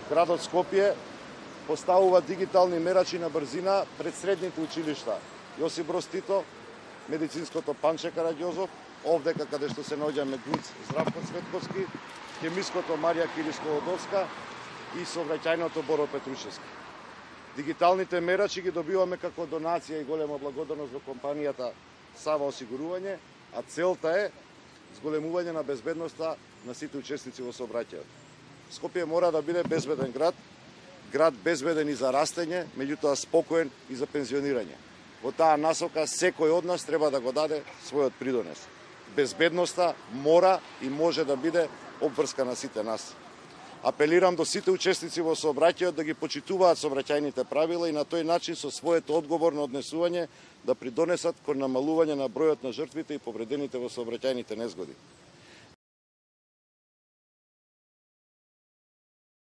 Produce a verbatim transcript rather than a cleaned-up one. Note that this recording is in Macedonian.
Градот Скопје поставува дигитални мерачи на брзина пред средните училишта Јосип Броз Тито, Медицинското Панче Караѓозов, овдека каде што се наоѓа Медниц Здравко Цветковски, Хемиското Марија Кириско-Одовска и Сообраќајното Боро Петрушевски. Дигиталните мерачи ги добиваме како донација и голема благодарност до компанијата Сава Осигурување, а целта е зголемување на безбедноста на сите учесници во сообраќајот. Скопје мора да биде безбеден град, град безбеден и за растење, меѓутоа спокоен и за пензионирање. Во таа насока секој од нас треба да го даде својот придонес. Безбедноста мора и може да биде обврска на сите нас. Апелирам до сите учесници во сообраќајот да ги почитуваат сообраќајните правила и на тој начин со своето одговорно однесување да придонесат кон намалување на бројот на жртвите и повредените во сообраќајните незгоди.